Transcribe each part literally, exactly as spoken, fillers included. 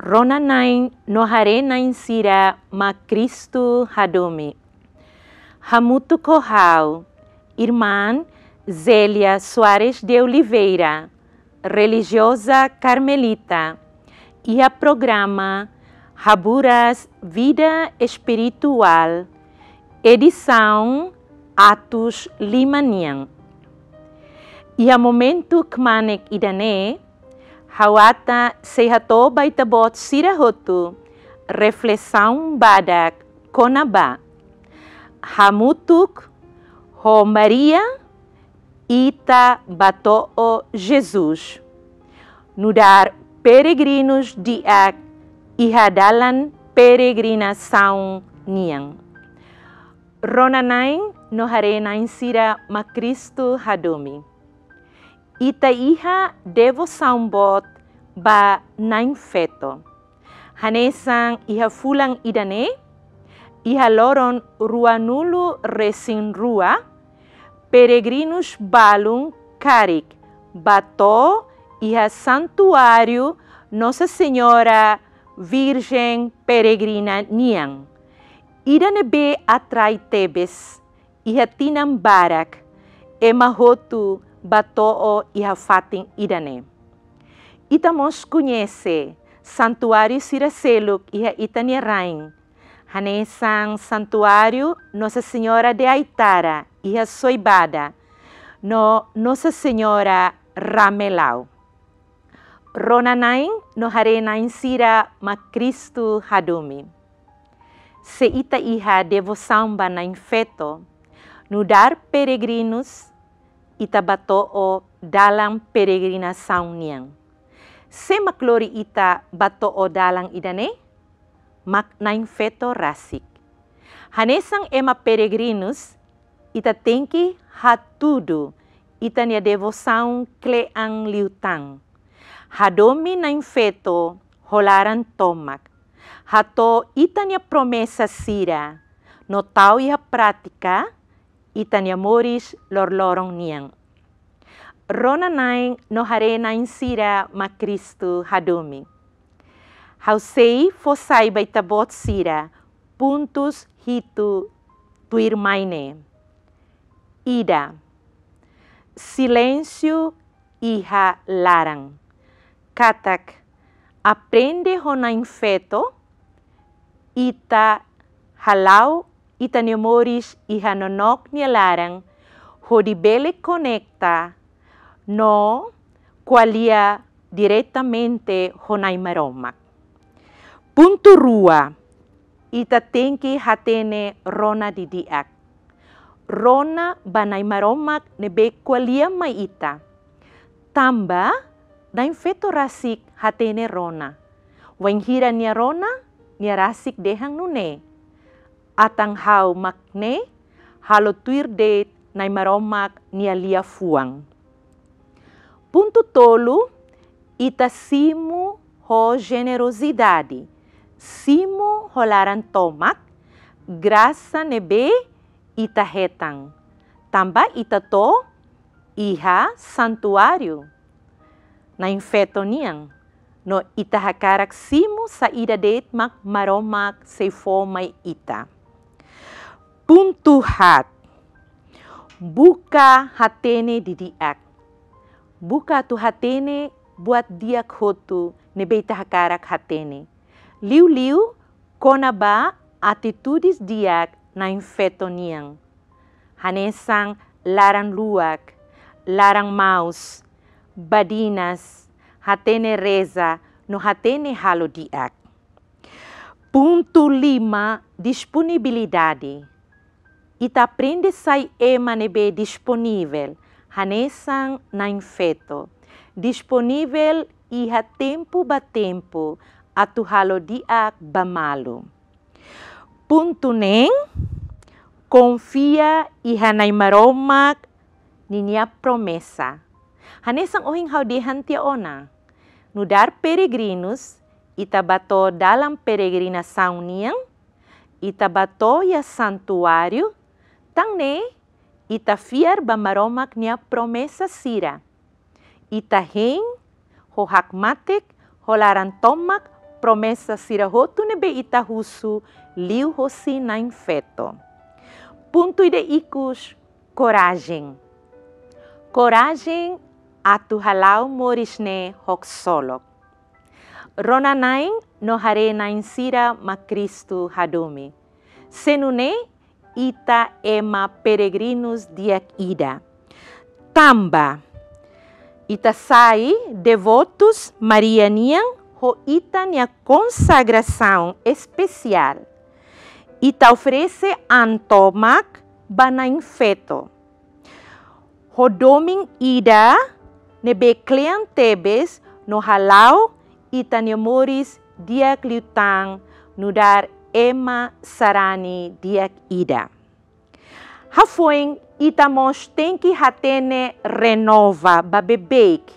Rona-na'in no haree-na'in sira mak Kristu hadomi. Hamutuk ho ha'u, Irmán Zélia Soares de Oliveira, relijioza karmelita, iha programa Haburas Vida Espirituál, edisaun atus lima nian. Iha momentu kmanek ida-ne'e, ha'u ata sei hato'o ba ita-boot sira hotu reflesaun badak kona-ba: Hamutuk ho Maria ita bá to'o Jesus. Nu'udar peregrinus di'ak iha dalan peregrinasaun nian. Rona-na'in no haree-na'in sira mak Kristu hadomi. Ita iha devosaun boot ba Na'in Feto. Hanesan iha fulan ida-ne'e, iha loron ruanulu-resin-rua, peregrinus balun karik bá to'o iha santuáriu Nossa Senhora Virgem Peregrina nian. Ida ne'ebé atrai tebes, iha tinan barak ema hotu bá to'o iha fatin ida-ne'e. Ita mós koñese santuáriu sira seluk iha ita-nia rain, hanesan santuáriu Nossa Senhora de Aitara iha Soibada, no Nossa Senhora Ramelau. Rona-na'in no haree-na'in sira mak Kristu hadomi. Se ita iha devosaun ba Na'in Feto, nu'udar peregrinus, ita bá to'o dalan peregrinasaun nian. Sé mak lori ita bá to'o dalan ida-ne'e? Mak Na'in Feto rasik. Hanesan ema peregrinus, ita tenke hatudu ita-nia devosaun kle'an liután. Hadomi Na'in Feto ho laran tomak. Hato'o ita-nia promesa sira no tau iha prátika ita-nia moris loroloron nian. Rona-na'in no haree-na'in sira mak Kristu hadomi. Ha'u sei fó sai ba ita-boot sira pontus hitu tuirmai ne'e. Ida, silénsiu iha laran. Katak aprende ho Na'in Feto, ita hala'o ita-nia moris iha nonook nia laran, hodi bele konekta no ko'alia diretamente ho Nai Maromak. Pontu rua, ita tenke hatene rona didi'ak. Rona ba Nai Maromak ne'ebé ko'alia mai ita. Tanba Na'in Feto rasik hatene rona. Wainhira nia rona, nia rasik dehan nune'e: Atan ha'u mak ne'e, halo tuir de'it Nai Maromak nia liafuan. Pontu tolu, ita simu ho jenerozidade, simu ho laran tomak grasa ne'ebé ita hetan, tanba ita to'o iha santuáriu Na'in Feto nian, no ita hakarak simu saida de'it mak Maromak sei fó mai ita. Pontu haat, buka hatene didi'ak. Buka atu hatene buat di'ak hotu ne'ebé ita hakarak hatene. Liuliu kona-ba atitudes di'ak Na'in Feto nian. Hanesan laran luak, laran maus, badinas, hatene reza, no hatene halo di'ak. Pontu lima, disponibilidade. Ita aprende sai ema ne'ebé disponivel, hanesan Na'in Feto. Disponivel iha tempu ba tempu atu halo di'ak ba malu. Pontu neen, konfia iha Nai Maromak ninia promesa. Hanesan ohin ha'u dehan tiha ona. Nu'udar peregrinus, ita bá to'o dalan peregrinasaun nian, ita bá to'o iha santuáriu, tan ne'e ita fiar ba Maromak nia promesa sira. Ita hein ho hakmatek, ho laran tomak, promesa sira hotu ne'ebé ita husu liuhosi Na'in Feto. Pontu ida ikus, korajen. Korajen atu hala'o moris ne'e ho ksolok. Rona-na'in no haree-na'in sira mak Kristu hadomi. Se nune'e ita ema peregrinus di'ak ida. Tanba ita sai devotus Maria nian ho ita-nia konsagrasaun espesiál. Ita oferese an tomak ba Na'in Feto ho domin ida ne'ebé kle'an tebes no hala'o ita-nia moris di'ak liután nu'udar ema sarani di'ak ida. Hafoin ita mós tenke hatene renova ba beibeik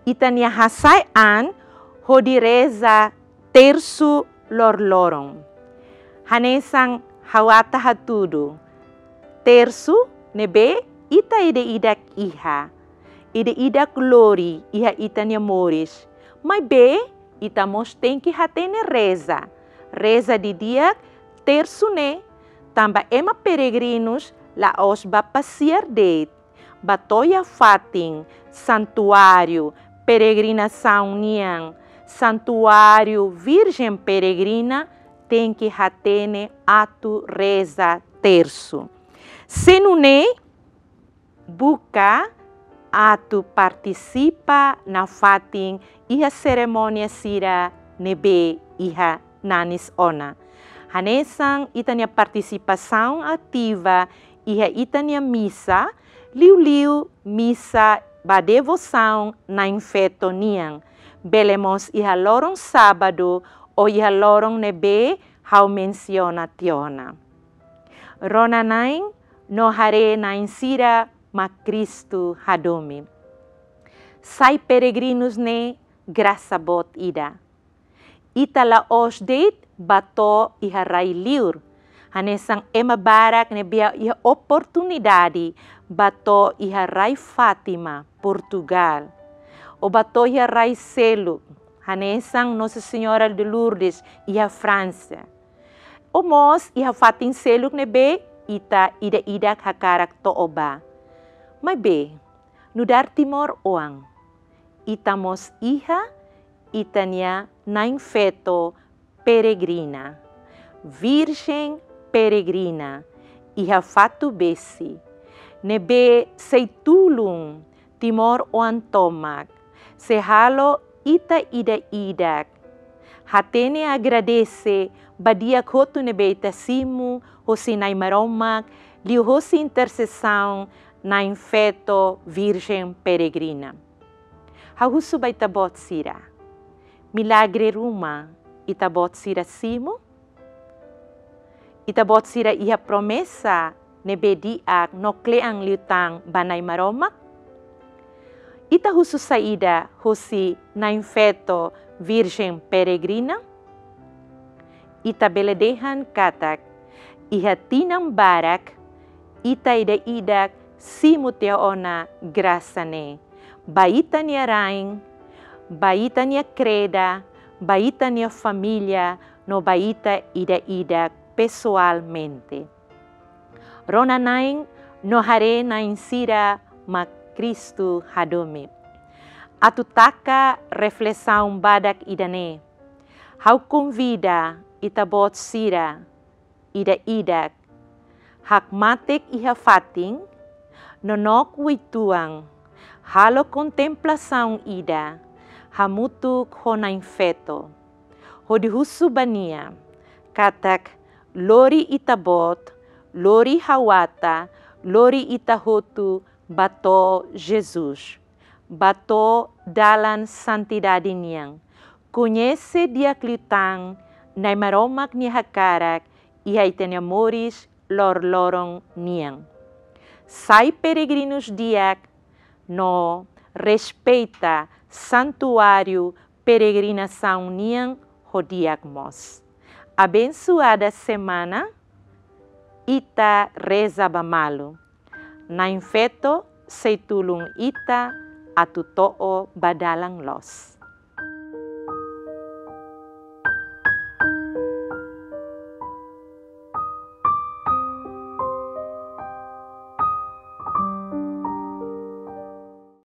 ita-nia hasai an hodi reza tersu loroloron. Hanesan ha'u ata hatudu, tersu ne'ebé ita ida-idak iha, ida-idak lori iha ita-nia moris. Maibé ita mós tenke hatene reza. Reza didi'ak tersu ne'e, tanba ema peregrinus la'ós bá pasiar de'it, bá to'o iha fatin santuáriu peregrinasaun nian, santuáriu Virjen Peregrina, tenke hatene atu reza tersu. Se nune'e buka atu partisipa nafatin iha serimónia sira ne'ebé iha nanis ona. Hanesan ita-nia partisipasaun ativa iha ita-nia misa, liuliu misa ba devosaun Na'in Feto nian. Bele mós iha loron sábadu ou iha loron ne'ebé ha'u mensiona tiha ona. Rona-na'in no haree-na'in sira mak Kristu hadomi. Sai peregrinus ne'e grasa boot ida. Ita la'ós de'it bá to'o iha rai-liur. Hanesan ema barak ne'ebé iha oportunidade bá to'o iha rai Fátima, Portugal. Ou bá to'o iha rai seluk, hanesan Nossa Senhora de Lourdes iha Fransa. Ou mós iha fatin seluk ne'ebé ita ida-idak hakarak to'o bá. Maibé, nu'udar timoroan, ita mós iha ita-nia Na'in Feto peregrina, Virjen peregrina, iha Fatubesi, ne'ebé sei tulun timoroan tomak, sei halo ita ida-idak hatene agradese ba di'ak hotu ne'ebé ita simu hosi Nai Maromak, liuhosi intersesaun Na'in Feto Virjen Peregrina. Ha'u husu ba ita-boot sira, milagre ruma ita-boot sira simu? Ita-boot sira iha promesa ne'ebé di'ak no kle'an liután ba Nai Maromak? Ita husu saida hosi Na'in Feto Virjen Peregrina? Ita bele dehan katak iha tinan barak ita ida-idak simu tiha ona grasa ne'e ba ita-nia rain, ba ita-nia kreda, ba ita-nia família, no ba ita ida-idak pesoalmente. Rona-na'in no haree-na'in sira mak Kristu hadomi. Atu taka reflesaun badak ida-ne'e, ha'u konvida ita-boot sira ida-idak hakmatek iha fatin, nonook uitoan, halo kontemplasaun ida hamutuk ho Na'in Feto, hodi husu ba nia katak lori ita-boot, lori ha'u ata, lori ita hotu bá to'o Jesus, bá to'o dalan santidade nian. Koñese di'ak liután Nai Maromak nia hakarak iha ita-nia moris loroloron nian. Sai peregrinus di'ak no respeita santuáriu peregrinasaun nian ho di'ak mós. Abensoada semana, ita reza ba malu. Na'in Feto sei tulun ita atu to'o ba dalan loos.